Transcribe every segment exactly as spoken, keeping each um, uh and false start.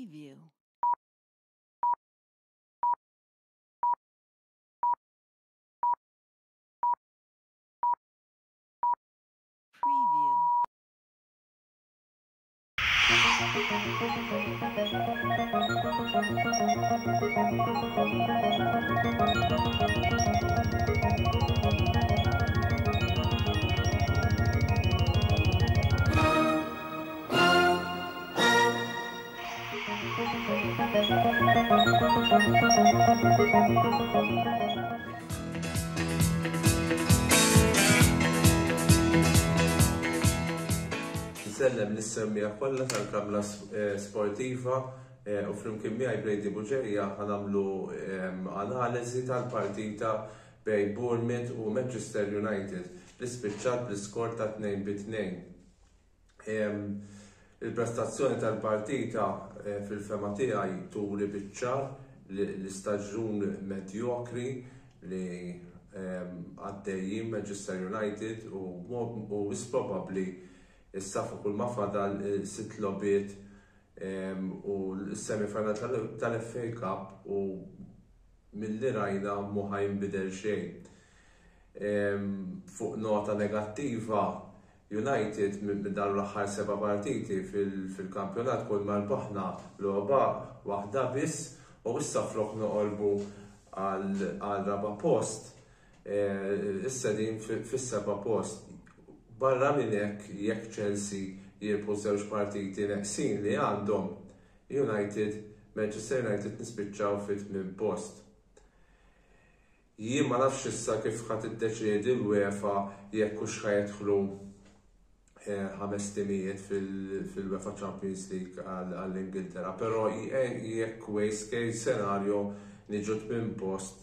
Preview. Preview. Nsellem lis-semmiegħa kollha tal-Kamra Sportiva u flimkien miegħi Brady Bugeja ħa nagħmlu analiżi tal-partita bejn Bournemouth u Manchester United li spiċċat bl-iskor ta' tnejn bi tnejn. Il-prestazzjoni tal-partita fil-fema tiegħi turi biċ-ċar l-istaġun medjokri li għaddejjin Manchester United u wis probabbli issa fuq kull ma fadal sitt logħbiet u l-semifinal tal-F A Cup u milli rajna mhu ħa jinbidel xejn. Fuq nota negattiva, United minn dawn l-aħħar seba' partiti fil-kampjonat kull ma rbaħna logħba waħda biss u issa flok noqorbu għal raba' post, issa din fis-seba' post. Barra minn hekk, jekk Chelsea jirbħu żewġ partiti neqsin li għandhom, United, Manchester United nispiċċaw fit-tmien post. Jien ma nafx issa kif ħa tiddeċiedi l-UEFA jekk hux ħa jidħlu ħames timijiet fil-UEFA Champions League għall-Ingilterra, però jekk worst case scenario niġu tmien post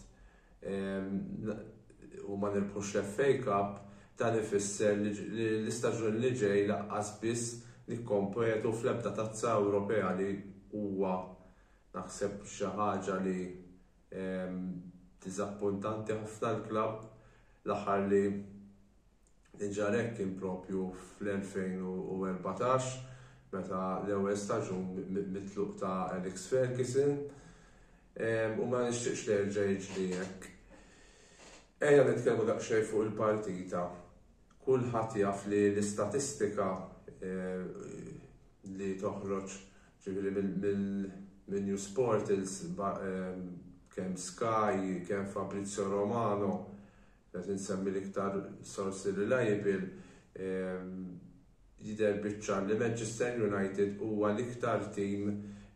u ma nirbħux l-F A Cup, dan ifisser li l-istaġun li ġej laqqas biss nikkompetu fl-ebda tazza Ewropea li huwa naħseb xi ħaġa li diżappuntanti ħafna l-klabb. L-aħħar li ġarek kien propju fl-elfejn u erbatax meta l-ewwel staġun mitluq ta' Alex Ferguson u ma nixtieqx li jerġa' jiġri hekk. Ejja nitkellmu daqsxejn fuq il-partita. Kulħadd jaf li l-istatistika li toħroġ ġifieri minn News Portals, kemm Sky, kemm Fabrizio Romano, qed insemmi l-iktar sorsi reliable, jidher biċ-ċar li Manchester United huwa l-iktar tim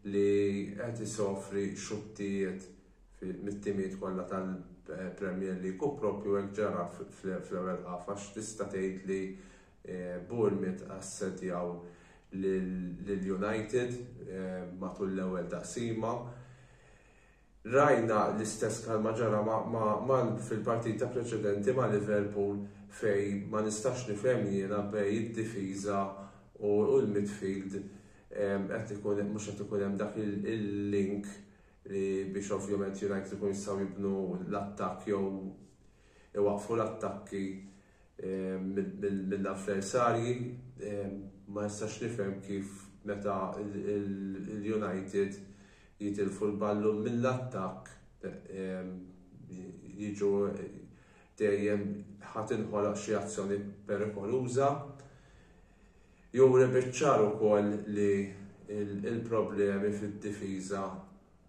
li qed isofri xuttijiet mit-timijiet kollha tal-Premier League u propju hekk ġara fl-ewwel ħaf, għax tista' tgħid li Bournemouth assedjaw lil United matul l-ewwel taqsima. Rajna l-istess bħalma ġara fil-partita preċedenti ma' Liverpool fej ma nistax nifhem jiena bej id-difiża u l-midfield qed ikun mhux qed ikun hemm dak il-link li biex ovvjament United ikun jistgħu jibnu l-attakk jew iwaqfu l-attakki mill-avversarji. Ma nistax nifhem kif meta il-United jitilfu l-ballun mill-attakk jiġu dejjem ħa tinħoloq xi azzjoni perikoluża. Juri biċ-ċar ukoll li il-problemi fid-difiża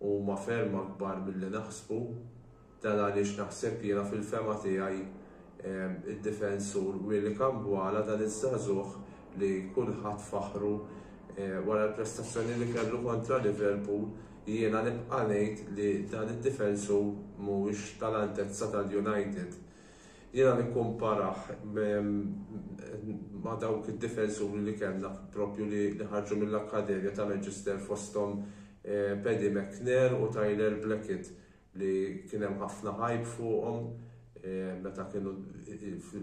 huma ferm akbar milli naħsbu. Dan għaliex naħseb jiena fil-fema tiegħi id-difensur Willy Kambwala, dan iż-żagħżugħ li kulħadd faħru wara l-prestazzjoni li kellu kontra Liverpool, jiena nibqa' ngħid li dan id-difensur mhuwiex tal-altezza tal-United. Jiena nikkumparah ma' dawk id-difensuri li kellna propju li ħarġu mill-Akkademja ta' Manchester, fosthom Paddy McNair u Tyler Blackett, li kien hemm ħafna hype fuqhom meta kienu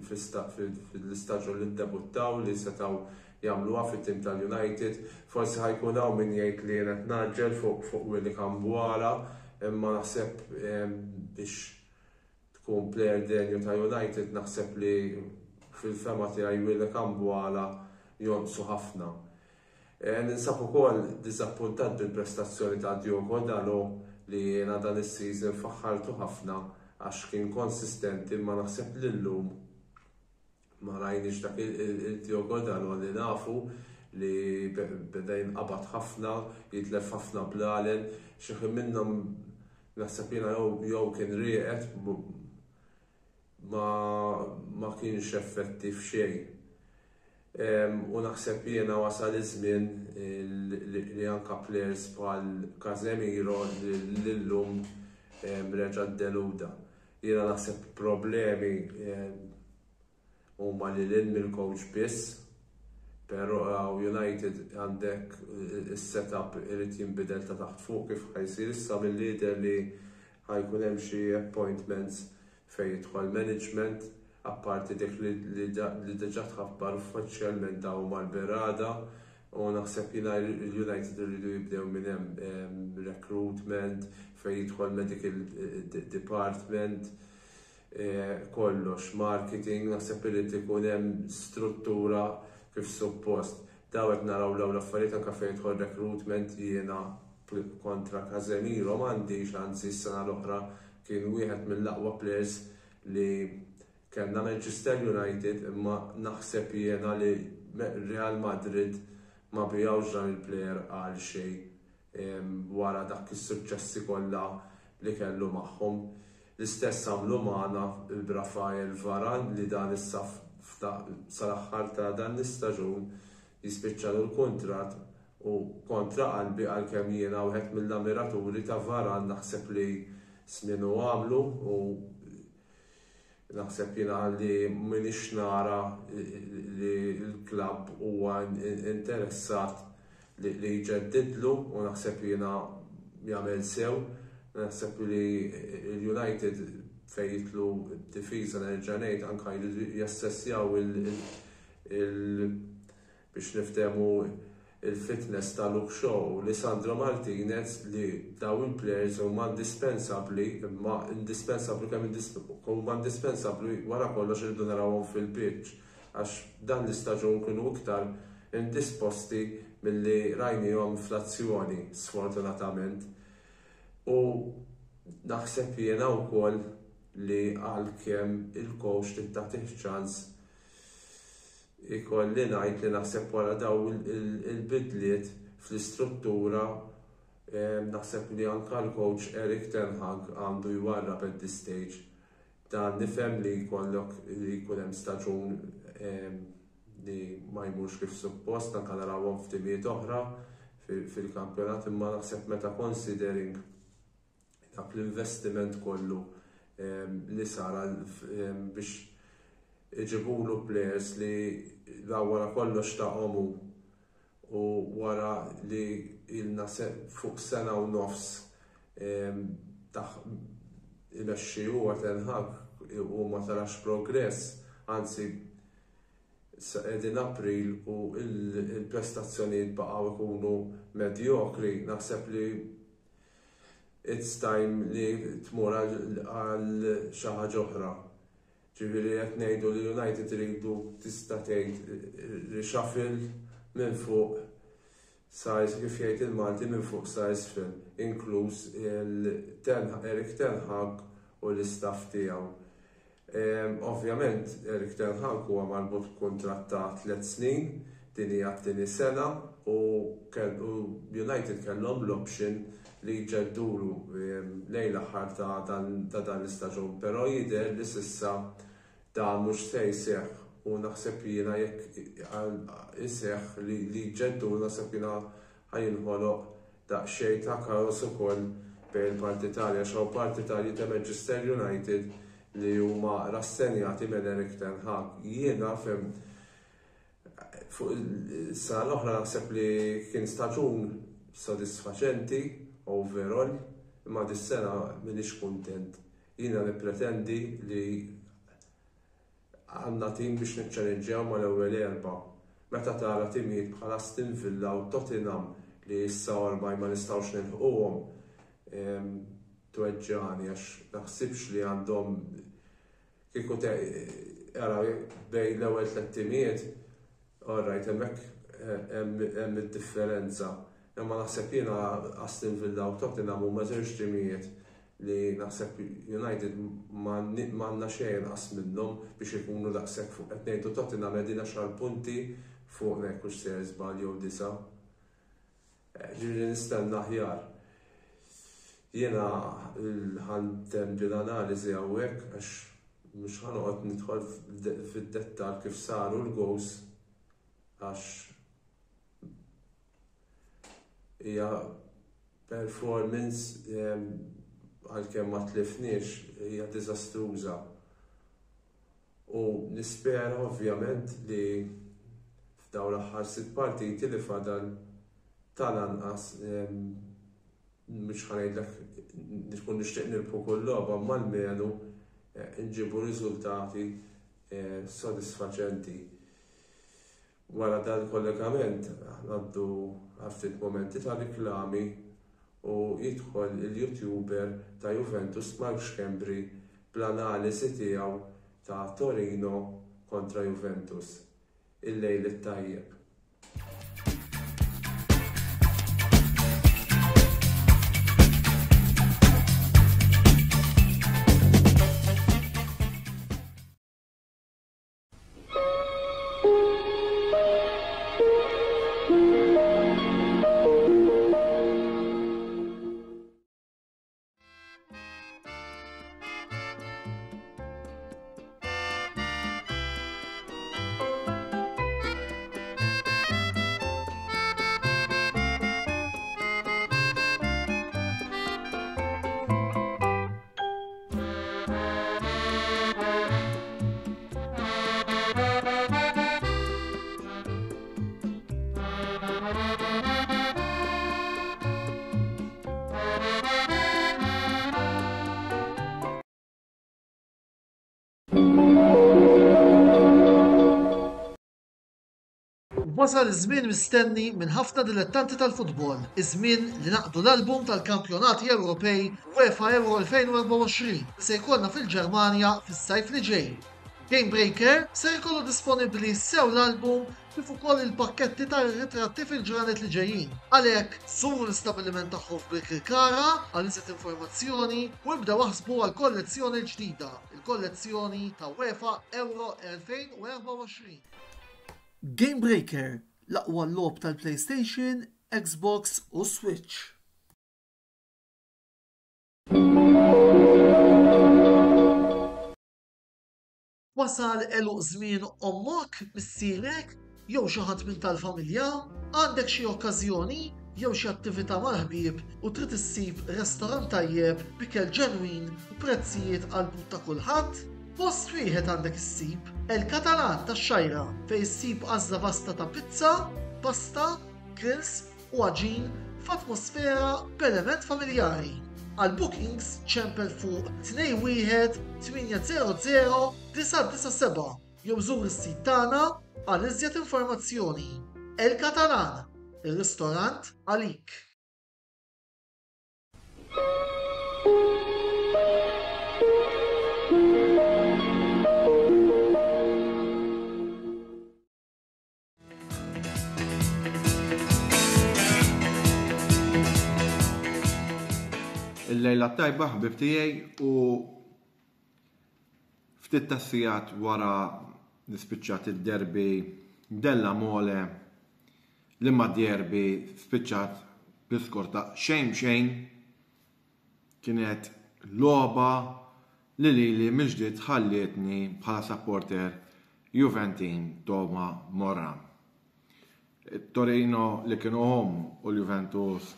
fil-istaġun li ddebuttaw li setgħu jagħmluha fit-tim tal-United. Forsi ħajkun hawn min jgħid li jien qed naġġel fuq Willy Kambwala, imma naħseb biex tkun player denju ta' United naħseb li fil-fema tiegħi Willy Kambwala jonqsu ħafna. Ninsab ukoll diżappuntat bil-prestazzjoni ta' Diogo Dalot li jiena dan is-season faħħartu ħafna għax kien konsistenti, ma naħseb li llum ma rajniex dak il-Diogo Dalot li nafu, li beda jinqabad ħafna, jitlef ħafna blalen, xi ħin minnhom naħseb jiena jew kien rieqed, ma, ma kienx effettiv xejn. U naħseb jiena wasal iż-żmien li anka players bħal Casemiro li llum reġa' deluda. Jiena naħseb problemi huma li lil mill-coach biss, però United għandek is-setup irid jinbidel ta' taħt fuq kif ħa jsir issa mill-lider li ħa jkun hemm xi appointments fejn jidħol management, apparti dik li diġà tħabbar uffiċjalment daw mal-Berada, u naħseb jiena l-United iridu jibdew minn hemm recruitment, fejn jidħol medical department, kollox, marketing, naħseb irid ikun hemm struttura kif suppost. Daw qed naraw l-ewwel affarijiet anke fejn jidħol recruitment. Jiena kontra Casemiro m'għandix, anzi s-sena l-oħra kien wieħed mill-aqwa players li kellna Manchester United, imma naħseb jiena li Real Madrid ma bijawx dan il-player għal xejn wara dak is-suċċessi kollha li kellu magħhom. L-istess għamlu magħna b'Rafael Varane li dan issa sal-aħħar ta' dan l-istaġun jispiċċalu l-kuntratt, u kontra qalbi, għalkemm jiena wieħed mill-ammiraturi ta' Varane, naħseb li sminu għamlu u naħseb jiena li m'iniex nara li l-klabb huwa interessat li jġeddidlu u naħseb jiena jagħmel sew. Naħseb li l-United fejn jidħlu difiża, nerġa' ngħid, anke jassessjaw il biex niftehmu il-fitness ta' Luke Shaw u Lisandro Martinez, li daw il-players huma indispensabbli, imma indispensabbli kemm huma indispensabbli, wara kollox irridu narawhom fil-pitch, għax dan l-istaġun kienu iktar indisposti milli rajnihom fl-azzjoni, sfortunatament. U naħseb jiena wkoll li għalkemm il-coach trid tagħtih ċans, ikolli ngħid li naħseb wara daw il-bidliet fl-istruttura, naħseb li anka l-coach Erik Ten Hag għandu jwarrab at this stage. Dan nifhem li jkollok li jkun hemm staġun li ma jmurx kif suppost, anka narawhom f'timijiet oħra fil-kampjonat, imma naħseb meta considering dak l-investiment kollu li sar biex iġibulu players li la wara kollox ta' omu u wara li ilna fuq sena u nofs taħ imexxi huwa Ten Hag u ma tarax progress, anzi qegħdin April u il-prestazzjonijiet baqgħu ikunu medjokri, naħseb li it's time li tmur għal xi ħaġa oħra. Ġifieri qed ngħidu li United iridu, tista' tgħid, reshuffle minn fuq sa, kif jgħid il-Malti, minn fuq sa isfel, inkluż Erik Ten Hag u l-istaff tiegħu. Ovvjament Erik Ten Hag huwa marbut b'kuntratt ta' tliet snin, din hija t-tieni sena u United kellhom l-option li jġeddulu lejn l-aħħar ta' dan l-istaġun, però jidher li s'issa dan mhux se jseħħ u naħseb jiena jekk iseħħ li jġeddu, naħseb jiena ħa jinħoloq daqsxejn ta' kaos ukoll bejn il-partitarji, għax hawn partitarji ta' Manchester United li huma rassenjati minn Erik Ten Hag. Jiena fem fuq is-sena l-oħra naħseb li kien staġun sodisfaċenti overall, imma dis-sena m'iniex kuntent. Jiena nippretendi li għandna tim biex niċċallenġjaw mal-ewwel erba'. Meta tara timijiet bħal Aston Villa u Tottenham li issa ormai ma nistgħux nilħquhom, tweġġani għax naħsibx li għandhom, kieku ara bejn l-ewwel tliet timijiet, alright, hemmhekk hemm id-differenza. Imma naħseb jiena Aston Villa u Tottenham huma żewġ timijiet li naħseb United m'għandna xejn inqas minnhom biex ikunu daqshekk fuq. Qed ngħidu Tottenham qegħdin għaxar punti fuq hekk hux se żball jew disa'. Ġifieri nistenna aħjar. Jiena ħa ntemm din l-analiżi hawnhekk għax mhux ħa noqgħod nidħol fid-dettall kif saru l-goals għax hija performance għalkemm ma tlifniex hija diżastruża. U nispera ovvjament li f'dawn l-aħħar sitt partiti li fadal tal-anqas mhux ħa ngħidlek nkun nixtieq nirbħu kull logħba, imma almenu nġibu riżultati sodisfaċenti. Wara dal-kollegament ngħaddu ftit momenti ta' riklami u jidħol il-YouTuber ta' Juventus Mark Schembri bl-analiżi tiegħu ta' Torino kontra Juventus. Il-lejl it-tajjeb. Wasal iż-żmien mistenni minn ħafna dilettanti tal-futbol, iż-żmien li naqdu l-album tal-Kampjonati Ewropej UEFA Euro elfejn u erbgħa u għoxrin li se jkollna fil-Ġermanja fis-sajf li ġej. Game Breaker ser ikollu disponibbli sew l-album kif ukoll il-pakketti tar-ritratti fil-ġranet li ġejjin. Għalhekk, żuru l-istabbiliment tagħhom f'Birkirkara għal iżjed informazzjoni u ibdew aħsbu għal kollezzjoni ġdida, il-kollezzjoni ta' UEFA Euro elfejn u erbgħa u għoxrin. Game Breaker, l-aqwa logħob tal-PlayStation, Xbox u Switch. Wasal għeluq żmien ommok, missierek, jew xi ħadd minn tal-familja, għandek xi okkażjoni jew xi attività mal-ħbieb u trid issib restorant tajjeb b'ikel ġenwin u prezzijiet għall-but ta' kulħadd? Post wieħed għandek issib, El Catalan tax-Xgħajra, fejn issib għażla vasta ta' pizza, pasta, grills u għaġin f'atmosfera b'element familjari. Għal bookings ċempel fuq tnejn wieħed tmienja zero zero disa' disa' seba' jew żur is-sit tagħna għal iżjed informazzjoni. El Catalan, ir-ristorant għalik. Il-lejla tajba ħbib tiegħi u ftit tas-sigħat wara li spiċċat id-derby della Mole li ma derby spiċċat bl-iskor ta' xejn xejn, kienet logħba li lili mill-ġdid ħallietni bħala supporter Juventin Toma Morra. Torino li kienu home u l-Juventus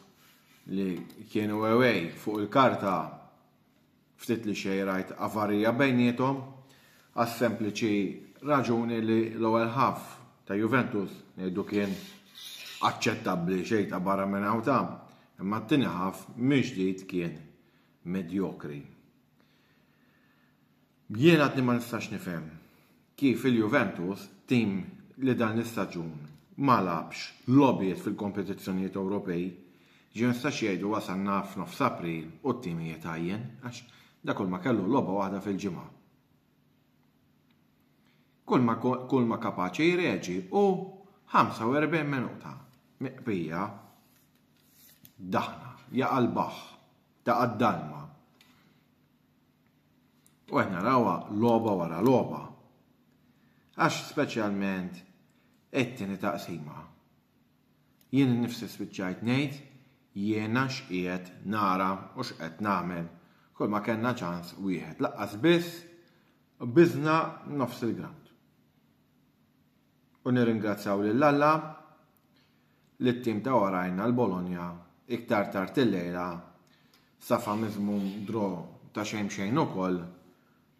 li kienu away fuq il-karta ftit li xejn rajt avarija bejniethom għas-sempliċi raġuni li l-ewwel ħaf ta' Juventus ngħidu kien aċċettabbli xejn ta' barra minn hawn ta', imma t-tieni ħaf mill-ġdid kien medjokri. Jien għadni ma nistax nifhem kif il-Juventus, tim li dan l-istaġun ma labx logħbiet fil-kompetizzjonijiet Ewropej, ġie nistax jgħidu wasalna f'nofs April u t-timijiet għajjen, għax dak kull ma kellu logħba waħda fil-ġimgħa. Kull ma, kull ma kapaċi jreġi u ħamsa u erbgħin minuta miqbija daħna, jaqa' l-baħħ, taqa' d-dalma. U qed narawha logħba wara logħba. Għax speċjalment it-tieni taqsima. Jien innifsi spiċċajt ngħid jiena x'qiegħed nara u x'qed nagħmel. Kull ma kellna ċans wieħed laqqas biss biżna nofs il-ground. U nirringrazzjaw lil Alla li t-tim ta' warajna l-Bologna iktar tard il-lejla safa miżmum draw ta' xejn xejn ukoll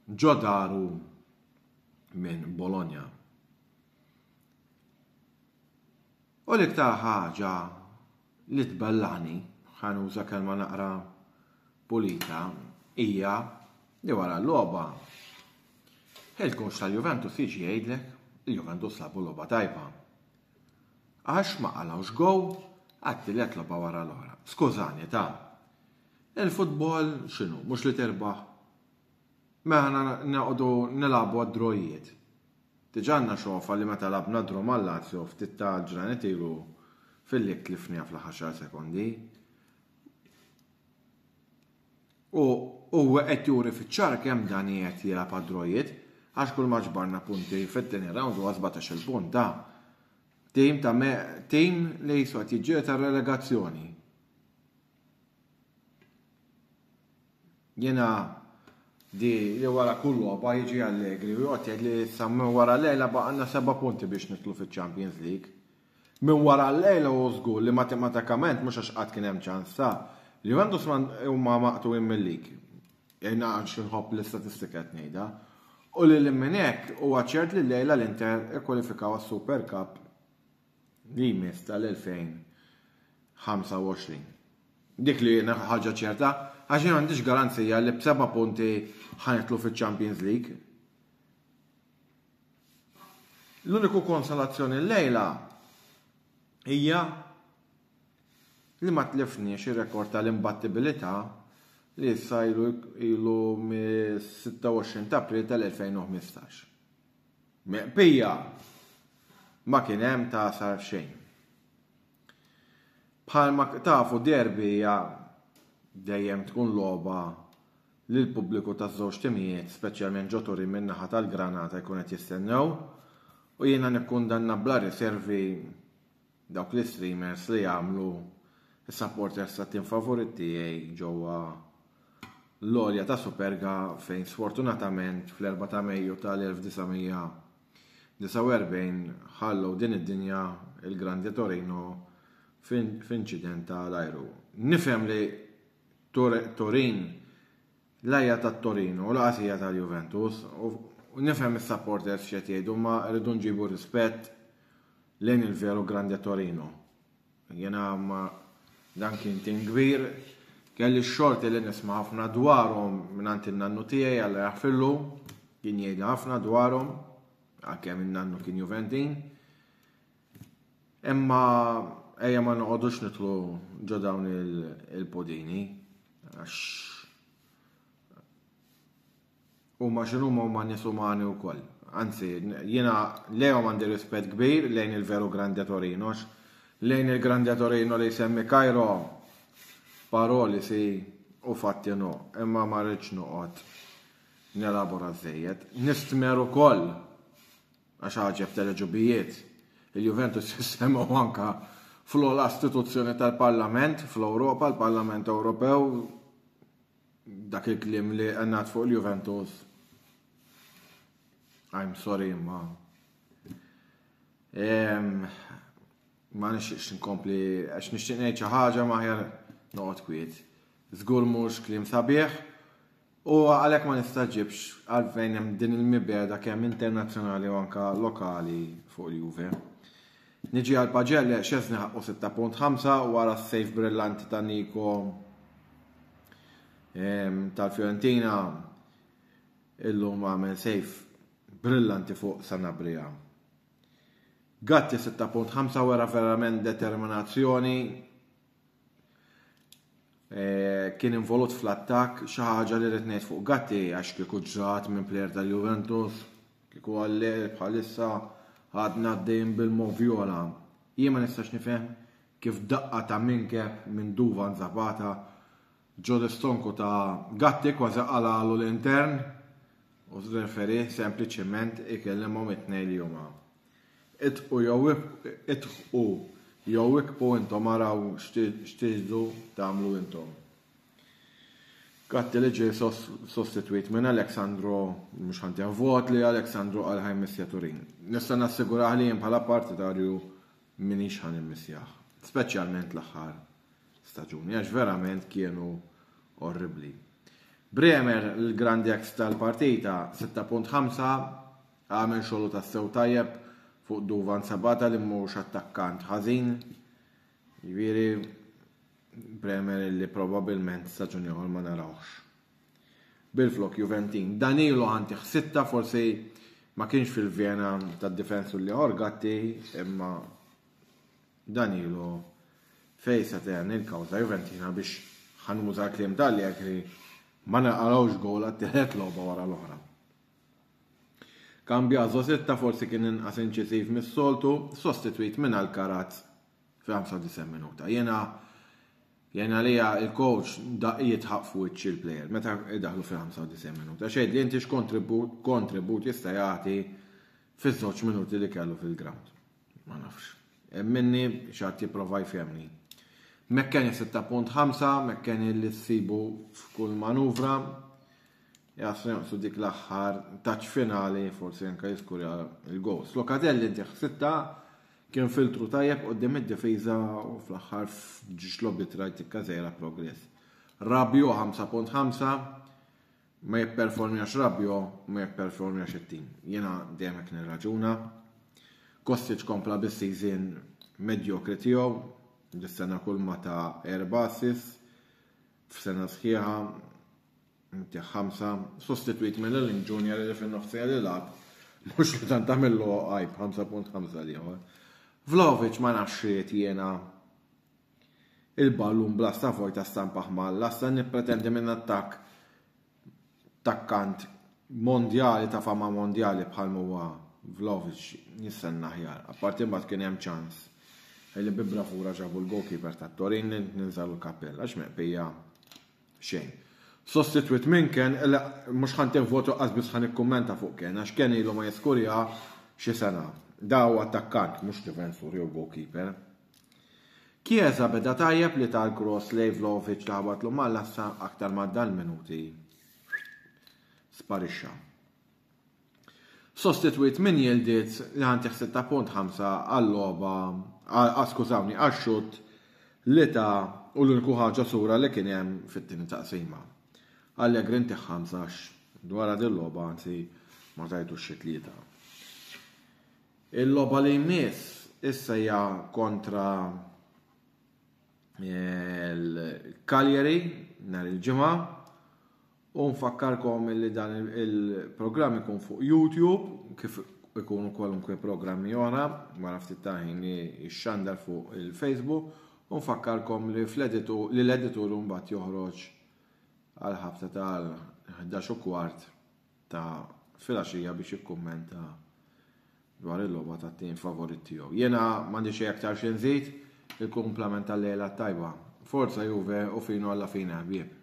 ġo daru minn Bologna. U l-iktar ħaġa li tbellani, ħa nuża kelma naqra pulita, hija li wara l-logħba il-coach tal-Juventus jiġi jgħidlek il-Juventus labu logħba tajba. Għax ma qalgħux gow għat-tielet logħba wara l-oħra. Skużani ta' il-futbol x'inhu, mhux li terbaħ. Mela noqogħdu nilagħbu għad-drojiet. Diġà għandna xofa li meta labna draw mal-Lazio ftit ta' ġranet ilu fil-lik tlifniha fl-aħħar xar sekondi. U huwa qed juri fiċ-ċar kemm dan qed jilgħab għad-drojiet, għax kull ma ġbarna punti fit-tieni round huwa sbatax-il punt ta' tim ta' me-, tim li jisu qed jiġġieled tar-relegazzjoni. Jiena di li wara kull logħba jiġi Allegri u joqgħod jgħid li issa minn wara lejla baqgħna seba' punti biex nidħlu fiċ-Champions League. Minn wara lejla u żgur li matematikament mhux għax qatt kien hemm ċans ta' Juventus huma maqtuwin mill-league. Jiena għax nħobb l-istatistika qed ngħidha. U li lil minn hekk huwa ċert li llejla l-Inter ikkwalifikaw għas-Super Cup li jmiss tal-elfejn ħamsa u għoxrin. Dik li jiena ħaġa ċerta, għax jien m'għandix garanzija li b'seba' punti ħanitlu fiċ-Champions League. L-uniku konsolazzjoni llejla hija li ma tlifniex ir-rekord tal-imbattibilità li issa ilu, ilu mis-sitta u għoxrin ta' April tal-elfejn u ħmistax. Meqbija ma kien hemm ta' sar xejn. Bħalma tafu derby hija dejjem tkun logħba li l-pubbliku taż-żewġ timijiet, speċjalment ġo Turin min-naħa tal-Granata jkun qed jistennew, u jiena nikkundanna bla riservi dawk l-streamers li jagħmlu is-supporters tat-tim favorit tiegħi ġewwa l-għolja ta' Superga fejn sfortunatament fl-erba' ta' Mejju tal-elf disa' mija disa' u erbgħin ħallew din id-dinja il-Grande Torino f'inċident tal-ajru. Nifhem li Tor-, Turin l-ajja ta' Torino u laqas hija tal-Juventus u nifhem is-supporters x'qed jgħidu, ma rridu nġibu rispett lejn il-veru Grande Torino. Jiena ma dan kien tim kbir, kelli x-xorti li nisma' ħafna dwarhom mingħand in-nannu tiegħi Alla jaħfirlu, kien jgħidli ħafna dwarhom, għalkemm in-nannu kien Juventin. Imma ejja ma noqogħdux nidħlu ġo dawn il-, il-podini, għax huma x'inhuma huma nies umani wkoll. Anzi, jiena lejhom għandi rispett kbir lejn il-veru Grande Torino, għax lejn il-Grande Torino li jsemmi Cairo paroli si u fatti no, imma ma rridx noqgħod nelabora żejjed. Nistmer ukoll għax ħaġeb tal-ġubijiet, il-Juventus jissemgħu anka fl-ogħla istituzzjoni tal-Parlament fl-Ewropa, l-Parlament Ewropew, dak il-kliem li għannat fuq il-Juventus. I'm sorry, ma. Em, ma nixtieqx nkompli, għax nixtieq ngħid xi ħaġa ma aħjar noqgħod kwiet. Żgur mhux kliem sabiħ, u għalhekk ma nistaġibx għalfejn hemm din il-mibeda kemm internazzjonali u anka lokali fuq il-Juve. Niġi għal Pagelle, Szczesny ħaqqu sitta punt ħamsa wara s-sejf brillanti ta' Nico, em, tal-Fiorentina, illum għamel sejf brillanti fuq Sanabria. Gatti sitta punt ħamsa wara verament determinazzjoni, e, kien involut fl-attakk, xi ħaġa li rrid ngħid fuq Gatti għax kieku ġrat minn plejer tal-Juventus, kieku għalli bħalissa Għadna għaddejjin bil-Moviola. Jien ma nistax nifhem kif daqqa ta' minkeb minn Duvan Zapata ġo l-istonku ta' Gatti kważi qalgħalu l-intern u r-referee sempliċement ikellimhom it-tnejn li huma. Itqu jew itħu jew ikbu intom, araw x'tridu tagħmlu intom. Gatti li ġie sostitwit minn Alex Sandro, mhux ħa ntih vot li Alex Sandro għal ħa jmissja Turin. Nista' nassigurah li jien bħala partitarju minix ħa nimmissjah, speċjalment l-aħħar staġuni, għax verament kienu orribli. Bremer, l-grandi ex tal-partita, sitta punt ħamsa, għamel xogħlu tassew tajjeb fuq Duvan Zapata li mhux attakkant ħażin. Jiġifieri Bremer li probabilment staġun ieħor ma narawx. Bil-flok Juventin. Danilo ħa ntih sitta, forsi ma kienx fil-vena tad-difensur li Gatti, imma Danilo fej se ten il-kawża Juventina biex, ħa nuża kliem tal-li ma naqalgħux gol għat-tielet logħba wara l-oħra. Cambiaso sitta, forsi kien inqas inċisiv mis-soltu, sostitwit minn Alcaraz fi ħamsa u disgħin minuta. Jena jena lija il-coach da jidħaq fuq il-player meta idaħlu fi ħamsa u disgħin minuta. Xejd li inti x'kontribut kontribut jista' jagħti fiż-żewġ minuti li kellu fil-ground. Ma nafx. Minni xi ħadd jipprova jfehemni. McKennie sitta punt ħamsa, McKennie li ssibu f'kull manuvra, jaslu jonqsu dik l-aħħar touch finali, forsi anka jiskurja il-goals. Locatelli ntih sitta, kien filtru tajjeb quddiem id-difiża u fl-aħħar f'żewġ logħbiet rajt tikka żgħira progress. Rabiot ħamsa punt ħamsa, ma jipperformjax Rabiot, ma jipperformjax it-tim. Jena dejjem hekk nirraġuna. Kostic kompla bis-season medjokri tiegħu, dis-sena kull ma ta' erba' assists, f'sena sħiħa, ntih ħamsa, sostitwit minn Iling Junior li fin-nofsija li lagħab, mhux li tant tagħmillu għajb, ħamsa punt ħamsa liħor. Vlahovic ma nafx jiena, il-ballun blasta vojta stampah mal-lasta. Nippretendi minn attakk attakkant mondjali ta' fama mondjali bħal huwa Vlahovic nistenna aħjar. Apparti mbagħad kien hemm ċans li bi bravura ġabu l-goalkeeper ta' Torin, ninżalu l-kappell għax meqbija xejn. Sostitwit minn Kean, mhux ħa ntih votu, biss ħa nikkummenta fuq Kean, għax Kean ilu ma jiskurja xi sena. Da huwa attakkant, mhux difensur jew goalkeeper. Chiesa beda tajjeb li tal-cross lejn Vlahovic li ħabatlu mal-lassa, aktar ma dal-minuti sparixxa. Sostitwit minn Yildiz li ħa ntih sitta punt ħamsa għall-logħba, skużawni, għax-xutt li ta u l-uniku ħaġa sura li kien hemm fit-tieni taqsima. Allegri ntih ħamsa dwar din logħba, anzi ma tajtux xi tlieta. Il-logħba li jmiss issa hija kontra l-Cagliari nhar il-Ġimgħa u nfakkarkom li dan il-programm ikun fuq YouTube kif ikunu kwalunkwe programmi oħra wara ftit ta' ħin li jixxandar fuq il-Facebook u nfakkarkom li fl-editur li l-editur mbagħad joħroġ għal ħabta tal-ħdax u kwart ta' filgħaxija biex jikkummenta dwar il-logħba tat-tim favorit tiegħu. Jiena m'għandi xejn aktar xi nżid, il-kumplament tal-lejla tajba. Forza Juve u fino alla fine, ħbieb.